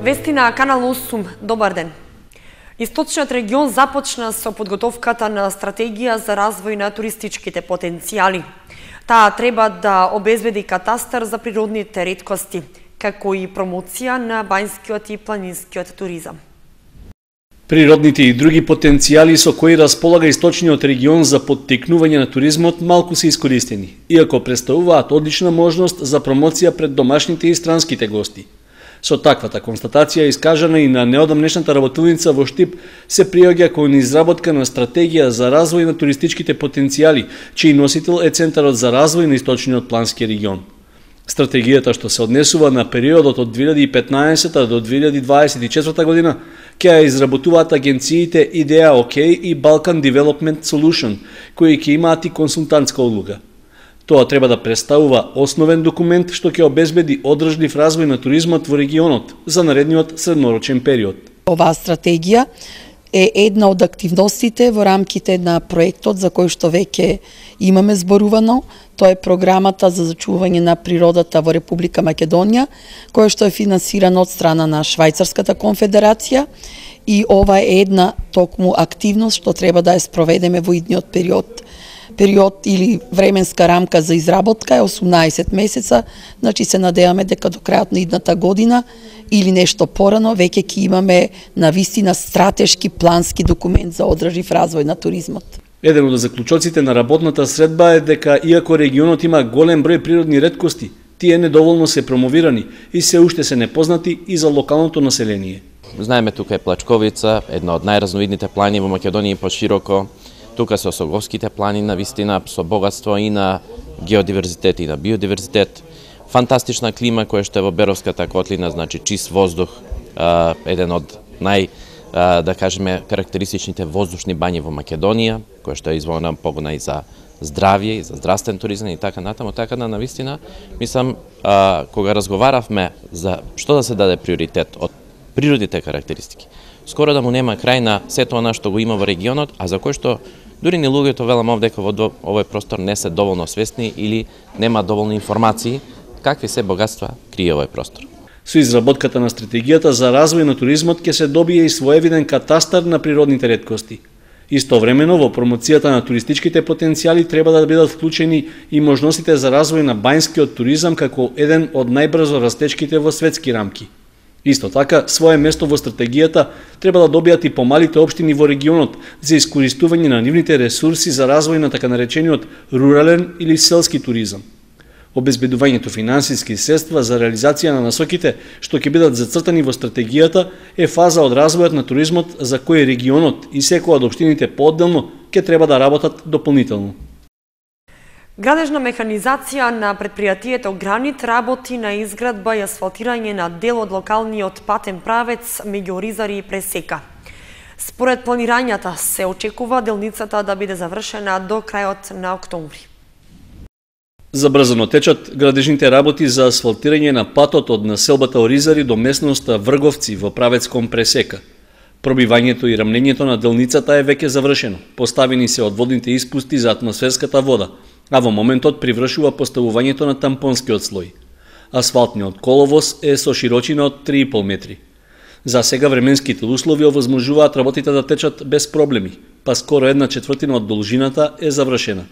Вести на Канал 8. Добар ден. Источниот регион започна со подготовката на стратегија за развој на туристичките потенцијали. Таа треба да обезбеди катастар за природните реткости, како и промоција на бањскиот и планинскиот туризам. Природните и други потенцијали со кои располага источниот регион за поттикнување на туризмот малку се искористени, иако представуваат одлична можност за промоција пред домашните и странските гости. Со таквата констатација искажана и на неодамнешната работилница во Штип се приоѓа кон изработка на стратегија за развој на туристичките потенцијали, чиј носител е Центарот за развој на источниот плански регион. Стратегијата, што се однесува на периодот од 2015 до 2024 година, ќе ја изработуваат агенциите Идеа ОК и Balkan Development Solution, кои ќе имаат и консултантска улога. Тоа треба да представува основен документ што ќе обезбеди одржлив развој на туризмот во регионот за наредниот среднорочен период. Оваа стратегија е една од активностите во рамките на проектот за кој што веќе имаме зборувано. Тоа е програмата за зачување на природата во Република Македонија, која што е финансирана од страна на Швајцарската конфедерација, и ова е една токму активност што треба да ја спроведеме во идниот период. Период или временска рамка за изработка е 18 месеца, значи се надеваме дека до крајот на идната година или нешто порано веќе ќе имаме навистина стратешки плански документ за одржлив развој на туризмот. Еден од заклучоците на работната средба е дека иако регионот има голем број природни реткости, тие недоволно се промовирани и се уште се непознати и за локалното население. Знаеме, тука е Плачковица, една од најразновидните планини во Македонија и пошироко. Тука се Осоговските планини, навистина со богатство и на геодиверзитет и на биодиверзитет. Фантастична клима која што е во Беровската котлина, значи чист воздух, еден од да кажеме карактеристичните воздушни бањи во Македонија, која што е изволна погодна и за здравје и за здравствен туризам и така натаму, така да навистина мислам кога разговаравме за што да се даде приоритет од природните карактеристики, скоро да му нема крај на сето она што го има во регионот, а за кој што дури ни луѓето велам овдека во овој простор не се доволно свесни или нема доволно информации какви се богатства крие овој простор. Со изработката на стратегијата за развој на туризмот ќе се добие и своевиден катастар на природните реткости. Истовремено во промоцијата на туристичките потенцијали треба да бидат вклучени и можностите за развој на бањскиот туризам како еден од најбрзо растечките во светски рамки. Исто така, свое место во стратегијата треба да добијат и помалите општини во регионот за искористување на нивните ресурси за развој на така наречениот рурален или селски туризам. Обезбедувањето финансиски средства за реализација на насоките што ќе бидат зацртани во стратегијата е фаза од развојот на туризмот за кој регионот и секоја од општините поодделно ќе треба да работат дополнително. Градежна механизација на предпријатието Гранит работи на изградба и асфалтирање на дел од локалниот патен правец меѓу Оризари и Пресека. Според планирањата се очекува делницата да биде завршена до крајот на октомври. Забрзано течат градежните работи за асфалтирање на патот од населбата Оризари до местноста Врговци во правец кон Пресека. Пробивањето и рамнењето на делницата е веќе завршено. Поставени се одводните испусти за атмосферската вода, а во моментот привршува поставувањето на тампонскиот слој. Асфалтниот коловоз е со широчина од 3,5 метри. За сега временските услови овозможуваат работите да течат без проблеми, па скоро 1/4 од должината е завршена.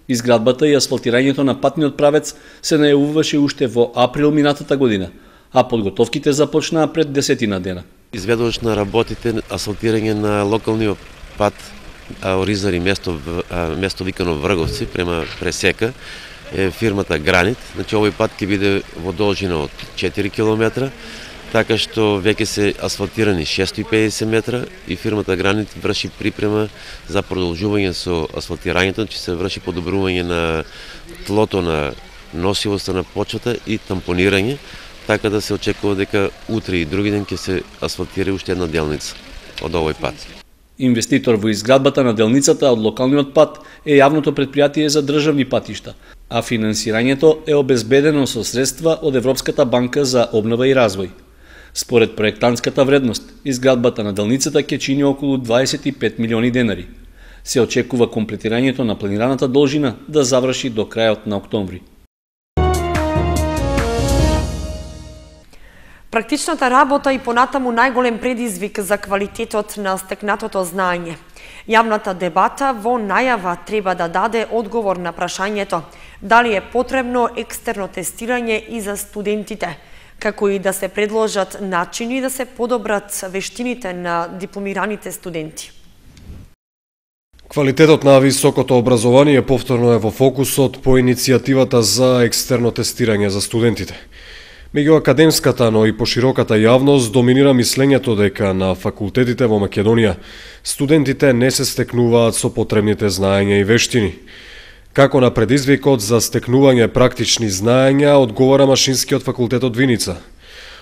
Изградбата и асфалтирањето на патниот правец се најавуваше уште во април минатата година, а подготовките започнаа пред 10 дена. Изведувач на работите асфалтирање на локалниот пат Оризари место викано Врговци према Пресека е фирмата Гранит. Значи овој пат ќе биде во должина од 4 км, така што веќе се асфалтирани 650 метра и фирмата Гранит врши припрема за продолжување со асфалтирањето, че се врши подобрување на тлото на носивоста на почвата и тампонирање, така да се очекува дека утре и други ден ќе се асфалтира уште една делница од овој пат. Инвеститор во изградбата на делницата од локалниот пат е јавното претпријатие за државни патишта, а финансирањето е обезбедено со средства од Европската банка за обнова и развој. Според проектантската вредност, изградбата на делницата ќе чини околу 25 милиони денари. Се очекува комплетирањето на планираната должина да заврши до крајот на октомври. Практичната работа и понатаму најголем предизвик за квалитетот на стекнатото знаење. Јавната дебата во најава треба да даде одговор на прашањето дали е потребно екстерно тестирање и за студентите, како и да се предложат начини да се подобрат вештините на дипломираните студенти. Квалитетот на високото образование повторно е во фокусот по иницијативата за екстерно тестирање за студентите. Меѓу академската, но и пошироката јавност доминира мислењето дека на факултетите во Македонија студентите не се стекнуваат со потребните знаења и вештини. Како на предизвикот за стекнување практични знаења одговара Машинскиот факултет од Виница.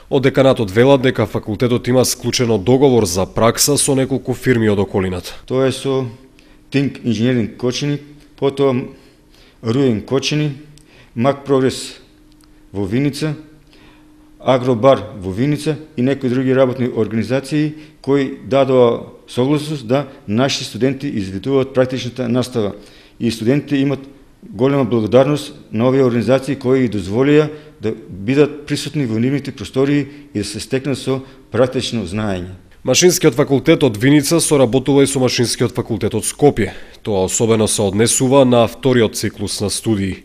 Од деканатот велат дека факултетот има склучено договор за пракса со неколку фирми од околината. Тоа е со Think Engineering Кочини, потоа Руен Кочини, Мак Прогрес во Виница, Агробар во Виница и некои други работни организации кои дадоа согласност да наши студенти изведуваат практичната настава. И студентите имат голема благодарност на овие организации кои дозволија да бидат присутни во нивните простории и да се стекнат со практично знаење. Машинскиот факултет од Виница соработува и со Машинскиот факултет од Скопје. Тоа особено се однесува на вториот циклус на студии.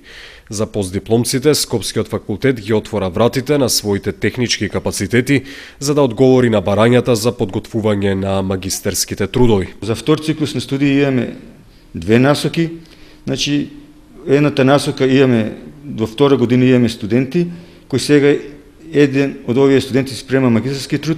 За постдипломците, Скопскиот факултет ги отвора вратите на своите технички капацитети за да одговори на барањата за подготвување на магистерските трудови. За втор циклус на студии имаме две насоки. Значи, едната насока имаме, во втора година имаме студенти, кои сега еден од овие студенти спрема магистерски труд.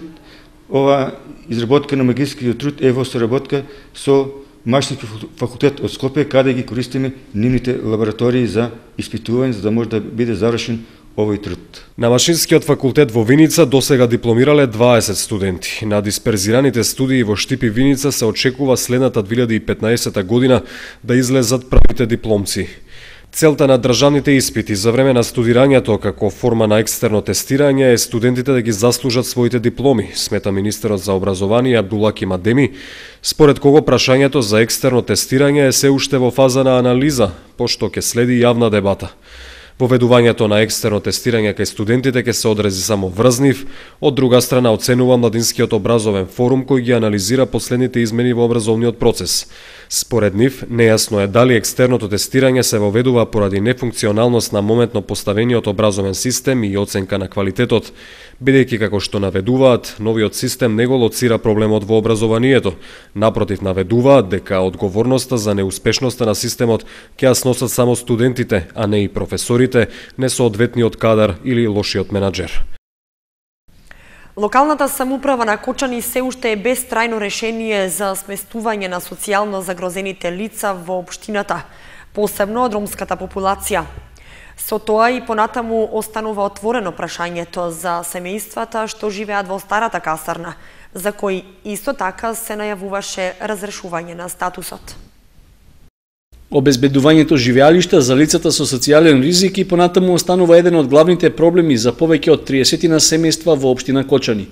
Ова изработка на магистерскиот труд е во соработка со Машински факултет од Скопје, каде ги користиме нивните лаборатории за испитување, за да може да биде завршен овој труд. На Машинскиот факултет во Виница досега дипломирале 20 студенти. На дисперзираните студии во Штип и Виница се очекува следната 2015 година да излезат правите дипломци. Целта на државните испити за време на студирањето како форма на екстерно тестирање е студентите да ги заслужат своите дипломи, смета министерот за образование Абдулаки Мадеми, според кого прашањето за екстерно тестирање е се уште во фаза на анализа, пошто ќе следи јавна дебата. Воведувањето на екстерно тестирање кај студентите ќе се одрази само врз нив, од друга страна оценува Младинскиот образовен форум кој ги анализира последните измени во образовниот процес. Според нив, нејасно е дали екстерното тестирање се воведува поради нефункционалност на моментно поставениот образовен систем и оценка на квалитетот, бидејќи како што наведуваат, новиот систем не го лоцира проблемот во образованието. Напротив, наведуваат дека одговорноста за неуспешноста на системот ќе ја сносат само студентите, а не и професорите, несоодветниот кадар или лошиот менаџер. Локалната самоуправа на Кочани се уште е без трајно решение за сместување на социјално загрозените лица во општината, посебно од ромската популација. Со тоа и понатаму останува отворено прашањето за семејствата што живеат во старата касарна, за кои исто така се најавуваше разрешување на статусот. Обезбедувањето живеалишта за лицата со социјален ризик и понатаму останува еден од главните проблеми за повеќе од 30 на семејства во општина Кочани.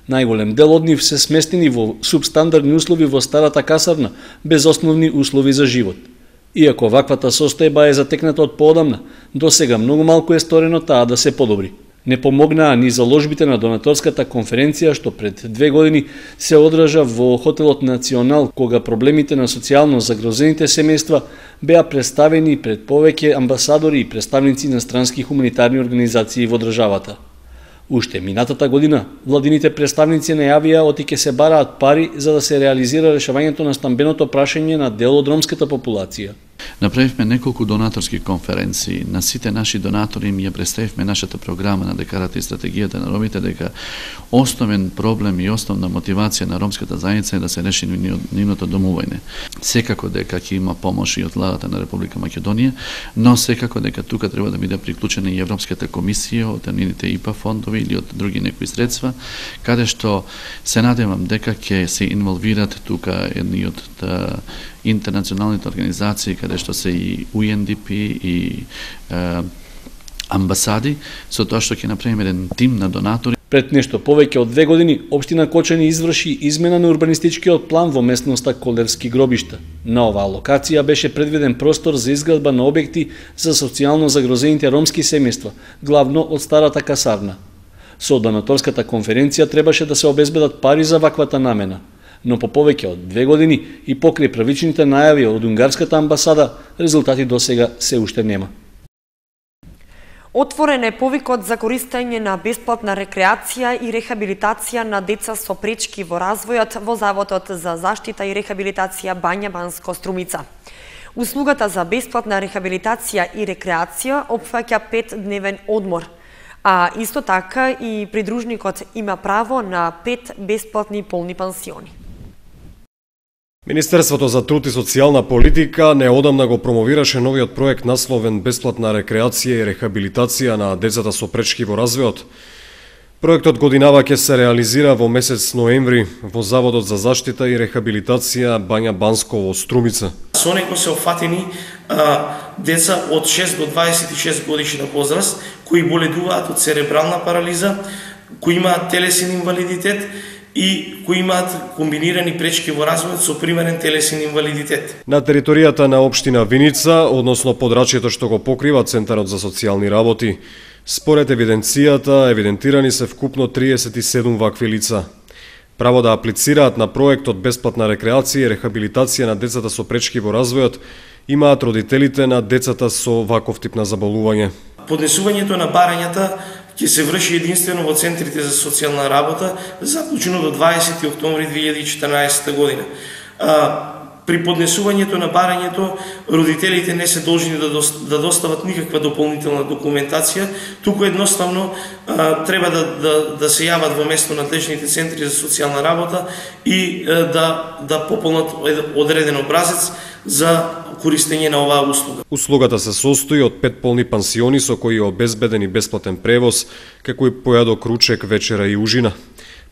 Најголем дел од нив се сместени во субстандардни услови во старата касарна, без основни услови за живот. Иако ваквата состојба е затекната од поодамна, досега многу малку е сторено таа да се подобри. Не помогнаа ни заложбите на донаторската конференција што пред 2 години се одржа во хотелот Национал, кога проблемите на социјално загрозените семејства беа представени пред повеќе амбасадори и представници на странски хуманитарни организации во државата. Уште минатата година, владините представници најавија оти ќе се бараат пари за да се реализира решавањето на стамбеното прашање на дел од ромската популација. Направивме неколку донаторски конференции. На сите наши донатори им ја представивме нашата програма на декарата и стратегијата на ромите, дека основен проблем и основна мотивација на ромската заедница е да се реши нивното домување. Секако дека ќе има помош и од владата на Република Македонија, но секако дека тука треба да биде приклучена и Европската комисија од нивните ИПА фондови или од други некои средства, каде што се надевам дека ќе се инволвират тука едни од интернационалните организации, каде што се и UNDP и амбасади, со тоа што ќе направиме еден тим на донатори. Пред нешто повеќе од 2 години, општина Кочани изврши измена на урбанистичкиот план во местноста Колевски гробишта. На оваа локација беше предвиден простор за изградба на објекти за социјално загрозените ромски семејства, главно од старата касарна. Со донаторската конференција требаше да се обезбедат пари за ваквата намена, но по повеќе од 2 години и покрај првичните најави од унгарската амбасада, резултати досега се уште нема. Отворен е повикот за користење на бесплатна рекреација и рехабилитација на деца со пречки во развојот во Заводот за заштита и рехабилитација Бања Банско Струмица. Услугата за бесплатна рехабилитација и рекреација опфаќа 5-дневен одмор, а исто така и придружникот има право на 5 бесплатни полни пансиони. Министерството за труд и социјална политика неодамна го промовираше новиот проект насловен Бесплатна рекреација и рехабилитација на децата со пречки во развојот. Проектот годинава ќе се реализира во месец ноември во Заводот за заштита и рехабилитација Бања Банско во Струмица. Со него се офатени деца од 6 до 26 годишна возраст кои боледуваат од церебрална парализа, кои имаат телесен инвалидитет и кои имаат комбинирани пречки во развојот со примерен телесен инвалидитет. На територијата на општина Виница, односно подрачјето што го покрива Центарот за социјални работи, според евиденцијата, евидентирани се вкупно 37 вакви лица. Право да аплицираат на проектот Бесплатна рекреација и рехабилитација на децата со пречки во развојот имаат родителите на децата со ваков тип на заболување. Поднесувањето на барањата ќе се врши единствено во центрите за социјална работа, заклучено до 20 октомври 2014 година. При поднесувањето на барањето, родителите не се должни да достават никаква дополнителна документација, туку едноставно треба да се јават во место надлежните центри за социјална работа и да пополнат одреден образец за користење на оваа услуга. Услугата се состои од 5 полни пансиони со кои е обезбеден и бесплатен превоз, како и појадок, ручек, вечера и ужина.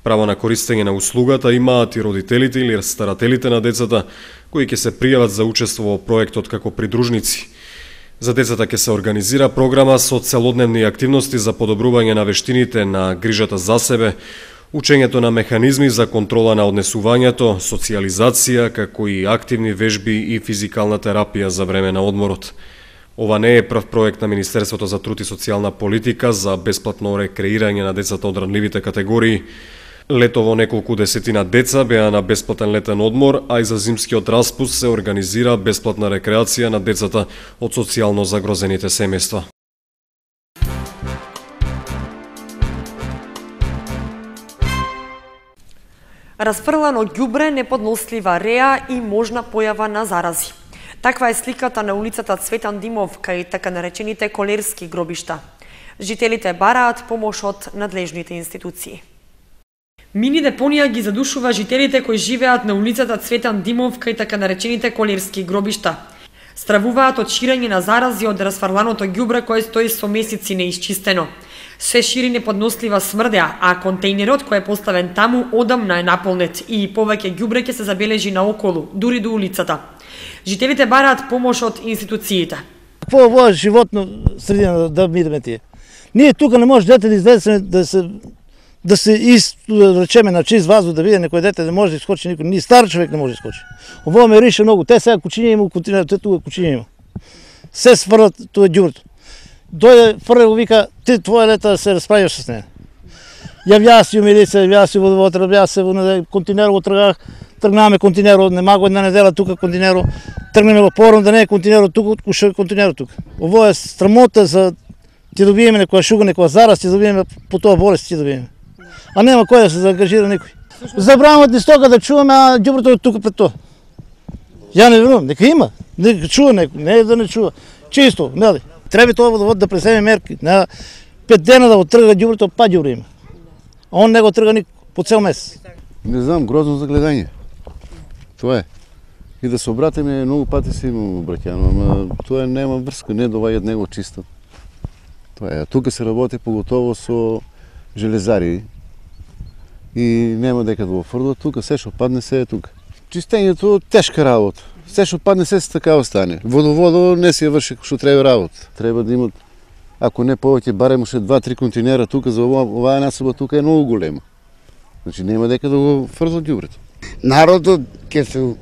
Право на користење на услугата имаат и родителите или старателите на децата, кои ќе се пријават за учество во проектот како придружници. За децата ќе се организира програма со целодневни активности за подобрување на вештините на грижата за себе, учењето на механизми за контрола на однесувањето, социјализација, како и активни вежби и физикална терапија за време на одморот. Ова не е прв проект на Министерството за труд и социјална политика за бесплатно рекреирање на децата од ранливите категории. Летово неколку десетина деца беа на бесплатен летен одмор, а и за зимскиот распуст се организира бесплатна рекреација на децата од социјално загрозените семејства. Расфрлано ѓубре, неподнослива реа и можна појава на зарази. Таква е сликата на улицата Цветан Димов кај така наречените колерски гробишта. Жителите бараат помош од надлежните институции. Мини депонија ги задушува жителите кои живеат на улицата Цветан Димов кај така наречените колерски гробишта. Стравуваат од ширење на зарази од расфрланото ѓубре кое стои со месеци неисчистено. Се шири неподнослива смрдеа, а контејнерот кој е поставен таму одамна е наполнет и повеќе ѓубре ќе се забележи наоколу, дури до улицата. Жителите бараат помош од институциите. Какво во животно средина да бидеме тие? Ние тука не може дете да излезе да се речеме на чист ваздух да биде некој дете, да може да искочи никој, ни стар човек не може да искочи. Ово ме рише многу, те сега кучиња има, те тука кучиња има. Се сврлат тоа ѓубрето. Дојде фрле го вика, ти твоја лета да се расправиш с неја. Јавја си у милиција, јавја си водовод, јавја се во континеро тргнах, тргнаме континеро, нема го една недела тука континеро, тргнеме во пором да не е континеро тука, куше континеро тука. Ово е срамота за ти добиеме некоја шуга, некоја зараз, ти добиеме по тоа болест ти добиеме. А нема кој да се заангажира никој. Забрануват ни стока да чуваме, а ѓубрето е тука пред тоа. Ја не верувам, нека има, нека чува некој, не е да не чува. Чисто, нели? Треба тоа водовод да преземе мерки. На 5 дена да го трга ѓубрето, па ѓубре има. А он не го трга ни по цел месец. Не знам, грозно за гледање. Тоа е. И да се обратиме, многу пати се има обраќано, ама тоа нема врска, не доваѓаат него чисто. Тоа е. Тука се работи поготово со железари и нема дека да го фрлат тука, се што падне се е тука. Чистењето тешка работа. Се што падне се така остане. Водоводо не си ја врши што треба работа. Треба да имат, ако не повеќе, барем уште 2-3 континера тука за оваа насоба тука е многу голема. Значи нема дека да го фрлат ѓубрето. Народот ќе се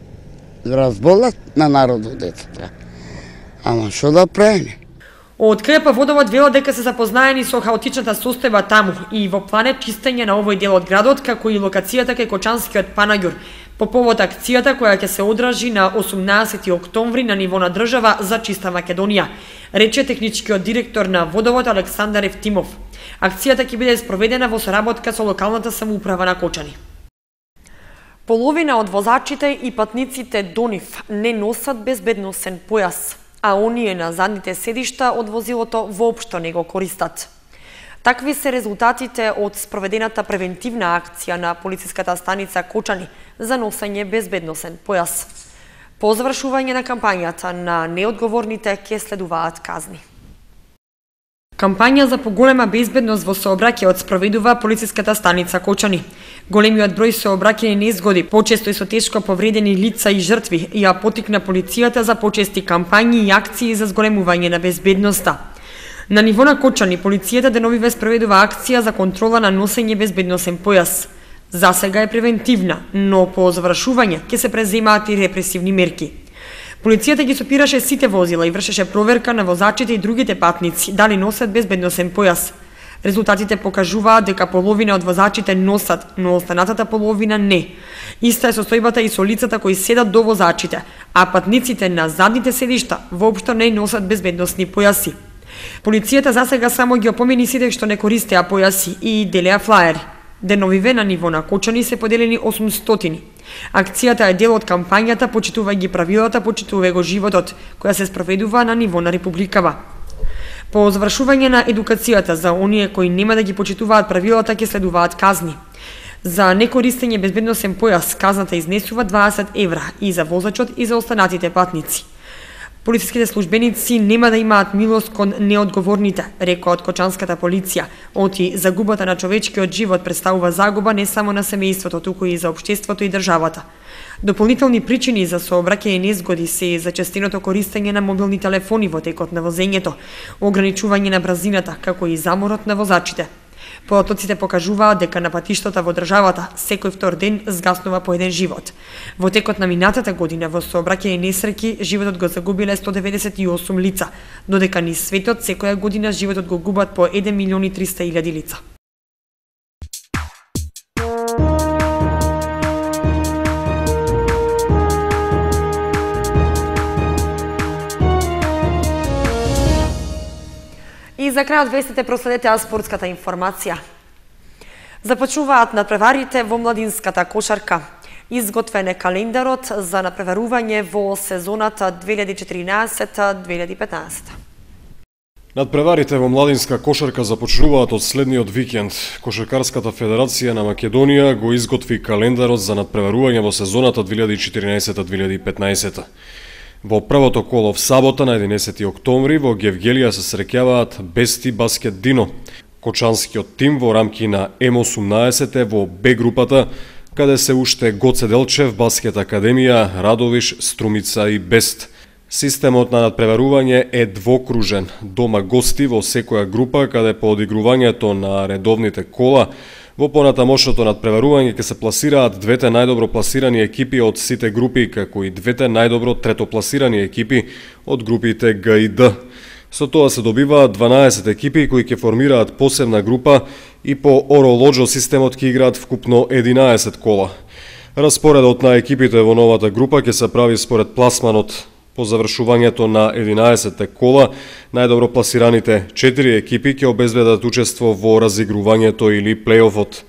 разболат на народот децата. Ама што да правиме? Од КП Водовод велат дека се запознаени со хаотичната состојба таму и во план е чистење на овој дел од градот, како и локацијата кај Кочанскиот панаѓур, по повод акцијата која ќе се одржи на 18 октомври на ниво на држава за чиста Македонија, рече техничкиот директор на Водовод Александар Евтимов. Акцијата ќе биде спроведена во соработка со локалната самоуправа на Кочани. Половина од возачите и патниците до нив не носат безбедносен појас, а оние на задните седишта од возилото воопшто не го користат. Такви се резултатите од спроведената превентивна акција на полициската станица Кочани за носење безбедносен појас. По завршување на кампањата на неодговорните ќе следуваат казни. Кампања за поголема безбедност во сообраќајот спроведува полициската станица Кочани. Големиот број сообраќајни незгоди, почесто и со тешко повредени лица и жртви, ја поттикна полицијата за почести кампањи и акции за зголемување на безбедноста. На ниво на Кочани, полицијата деновиве спроведува акција за контрола на носење безбедносен појас. За сега е превентивна, но по завршување ќе се преземаат и репресивни мерки. Полицијата ги сопираше сите возила и вршеше проверка на возачите и другите патници дали носат безбедносен појас. Резултатите покажуваат дека половина од возачите носат, но останатата половина не. Иста е состојбата и со лицата кои седат до возачите, а патниците на задните седишта воопшто не носат безбедносни појаси. Полицијата засега само ги опомени сите што не користеа појаси и делеа флаери. Деновиве на ниво на Кочани се поделени 800. Акцијата е дел од кампањата Почитувај ги правилата, почитувај го животот, која се спроведува на ниво на Републикава. По завршување на едукацијата за оние кои нема да ги почитуваат правилата ќе следуваат казни. За некористење безбедносен појас казната изнесува 20 евра и за возачот и за останатите патници. Полициските службеници нема да имаат милост кон неодговорните, рекоа од Кочанската полиција. Оти загубата на човечкиот живот представува загуба не само на семејството, туку и за општеството и државата. Дополнителни причини за сообраќајни незгоди се и зачестеното користење на мобилни телефони во текот на возењето, ограничување на брзината, како и заморот на возачите. Податоците покажуваат дека на патиштата во државата секој втор ден згаснува по еден живот. Во текот на минатата година во сообраќајни несреќи животот го загубиле 198 лица, додека низ светот секоја година животот го губат по 1.300.000 лица. И за крај од вестите проследете спортската информација. Започнуваат надпреварите во младинската кошарка. Изготвен е календарот за надпреварување во сезоната 2014-2015. Надпреварите во младинска кошарка започнуваат од следниот викенд. Кошаркарската федерација на Македонија го изготви календарот за надпреварување во сезоната 2014-2015. Во првото коло в сабота на 11 октомври во Гевгелија се среќаваат Бести Баскет Дино. Кочанскиот тим во рамки на М18 е во Б групата, каде се уште Гоце Делчев, Баскет Академија, Радовиш, Струмица и Бест. Системот на надпреварување е двокружен, дома гости во секоја група, каде по одигрувањето на редовните кола во понатамошното надпреварување ќе се пласираат двете најдобро пласирани екипи од сите групи, како и двете најдобро третопласирани екипи од групите Г и Д. Со тоа се добиваат 12 екипи кои ќе формираат посебна група и по оролоџо системот ќе играат вкупно 11 кола. Распоредот на екипите во новата група ќе се прави според пласманот. По завршувањето на 11 кола, најдобро пласираните 4 екипи ќе обезбедат учество во разигрувањето или плейофот.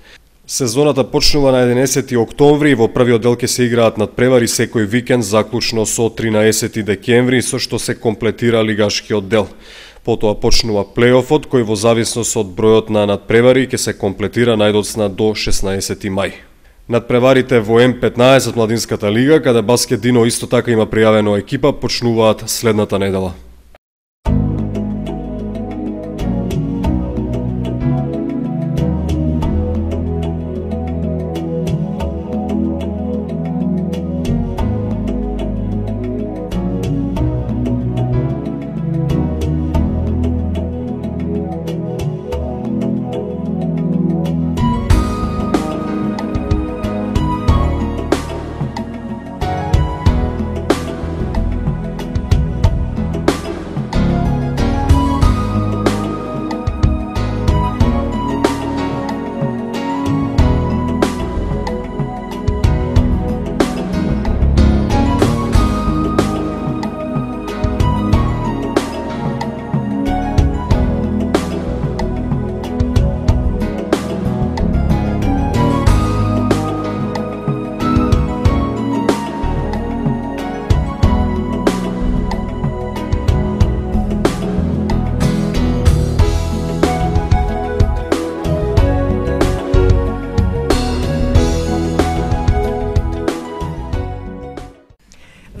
Сезоната почнува на 11 октомври и во првиот дел ќе се играат надпревари секој викенд заклучно со 13 декември, со што се комплетира лигашкиот дел. Потоа почнува плейофот кој во зависност од бројот на надпревари ќе се комплетира најдоцна до 16 мај. Надпреварите во М15 младинската лига, каде Баскет Дино исто така има пријавено екипа, почнуваат следната недела.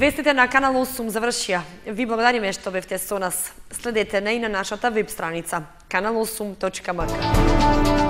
Вестите на Канал 8 завршија. Ви благодариме што бевте со нас. Следете на и на нашата веб страница kanal8.mk.